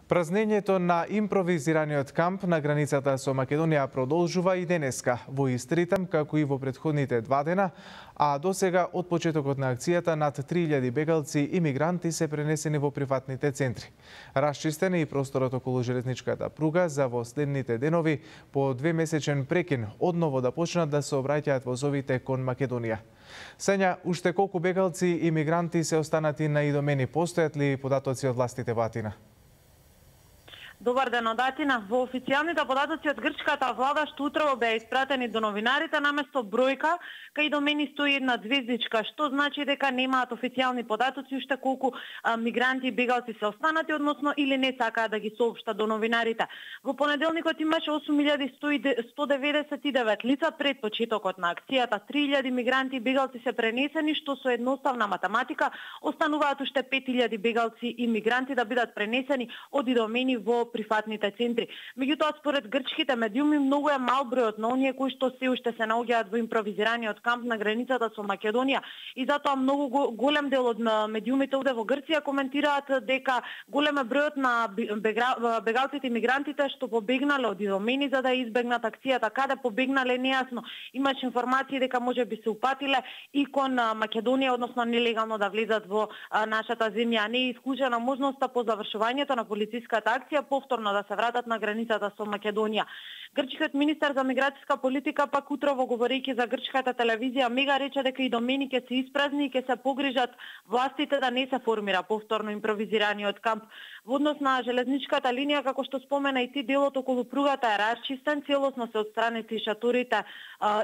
Празнењето на импровизираниот камп на границата со Македонија продолжува и денеска во ист ритм како и во претходните 2 дена, а досега од почетокот на акцијата над 3000 бегалци и мигранти се пренесени во приватните центри. Расчистен е и просторот околу железничката пруга за во следните денови по 2-месечен прекин одново да почнат да се обраќаат возовите кон Македонија. Сења, уште колку бегалци и мигранти се останати на Идомени, постојат ли податоци од властите во Атина? Добар ден од Атина. Во официјалните податоци од грчката влада што утрово беа испратени до новинарите, наместо бројка, кај Идомени стои една звездичка, што значи дека немаат официјални податоци уште колку мигранти и бегалци се останати, односно или не сакаат да ги соопштат до новинарите. Во понеделникот имаше 8199 лица пред почетокот на акцијата. 3000 мигранти и бегалци се пренесени, што со едноставна математика остануваат уште 5000 бегалци и мигранти да бидат пренесени од Идомени во приватните центри. Меѓутоа, според грчките медиуми, многу е мал бројот на оние кои што се уште се наоѓаат во импровизираниот камп на границата со Македонија, и затоа многу голем дел од медиумите овде во Грција коментираат дека голем е бројот на бегалците и мигрантите што побегнале од Идомени за да избегнат акцијата. Каде побегнале нејасно. Имаше информации дека можеби се упатиле и кон Македонија, односно нелегално да влезат во нашата земја. Не е исклучена можноста по завршувањето на полициската акција повторно да се вратат на границата со Македонија. Грчкиот министер за миграцијска политика пак утрово говорејќи за грчката телевизија Мега рече дека Идомени ќе се испразни и ќе се погрижат властите да не се формира повторно импровизираниот камп. Во однос на железничката линија, како што спомена и ти, делот околу пругата е расчистен, целосно се отстранети шаторите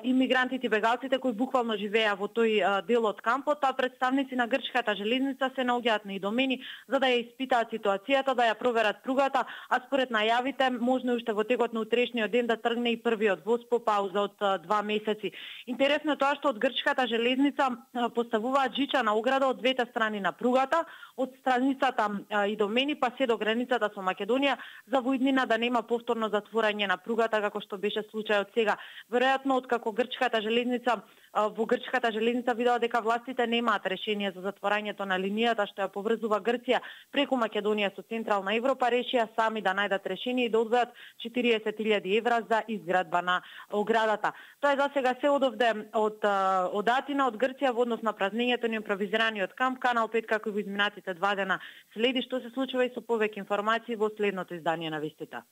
и мигрантите и бегалците кои буквално живееа во тој дел од кампот, а представници на грчката железница се наоѓаат на Идомени за да ја испитаат ситуацијата, да ја проверат пругата, а според најавите можно уште во текот на утрешниот ден да тргне и првиот воз по пауза од 2 месеци. Интересно е тоа што од грчката железница поставуваат жичана ограда од двете страни на пругата, од страницата Идомени па се до границата со Македонија, за во иднина да нема повторно затворање на пругата како што беше случајот сега. Веројатно откако грчката железница видела дека властите немаат решение за затворањето на линијата што ја поврзува Грција преку Македонија со Централна Европа, решија сами да најдат решение и да одвојат 40.000 евра за изградба на оградата. Тоа е за сега се од Атина, од Грција во однос на празнењето на импровизираниот камп. Канал 5 како и во изминатите 2 дена следи што се случува и со повеќе информации во следното издание на вестите.